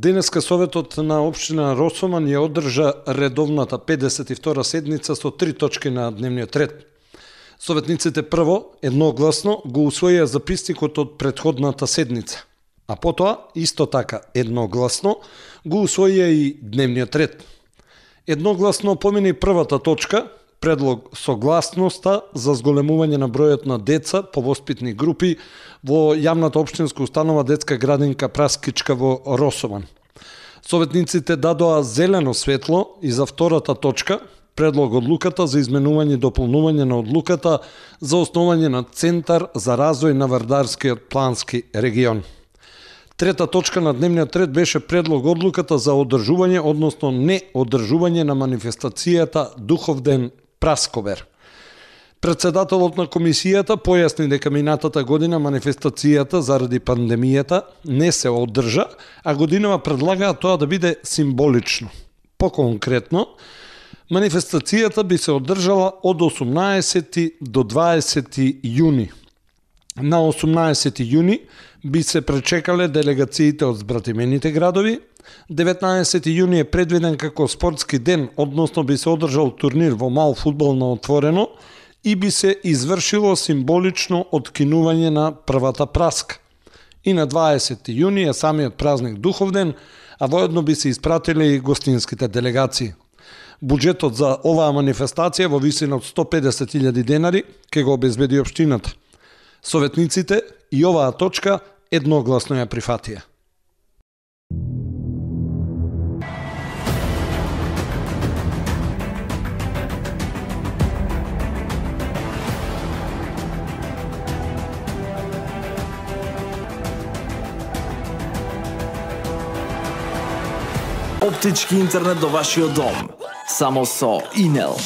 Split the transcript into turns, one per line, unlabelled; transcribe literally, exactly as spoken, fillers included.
Денеска Советот на општина Росоман ја одржа редовната педесет и втора седница со три точки на дневниот ред. Советниците прво, едногласно, го усвоија записникот од претходната седница, а потоа, исто така, едногласно, го усвоија и дневниот ред. Едногласно помина и првата точка, предлог согласноста за зголемување на бројот на деца по воспитни групи во јавната општинска установа детска градинка Праскичка во Росоман. Советниците дадоа зелено светло и за втората точка, предлог одлуката за изменување и дополнување на одлуката за основање на Центар за развој на Вардарскиот плански регион. Трета точка на дневниот ред беше предлог одлуката за одржување, односно не одржување на манифестацијата Духовден Прасковер. Председателот на комисијата појасни дека минатата година манифестацијата заради пандемијата не се одржа, а годинава предлагаа тоа да биде символично. Поконкретно, манифестацијата би се одржала од осумнаесети до дваесети јуни. На осумнаесети јуни би се пречекале делегациите од збратимените градови. деветнаесети јуни е предвиден како спортски ден, односно би се одржал турнир во мал фудбал на отворено и би се извршило символично откинување на првата праска. И на дваесети јуни е самиот празник Духовден, а воедно би се испратиле и гостинските делегации. Буџетот за оваа манифестација во висина од сто педесет илјади денари ќе го обезбеди општината. Советниците и оваа точка едногласно ја прифатија.
Оптички интернет до вашиот дом. Само со Инел.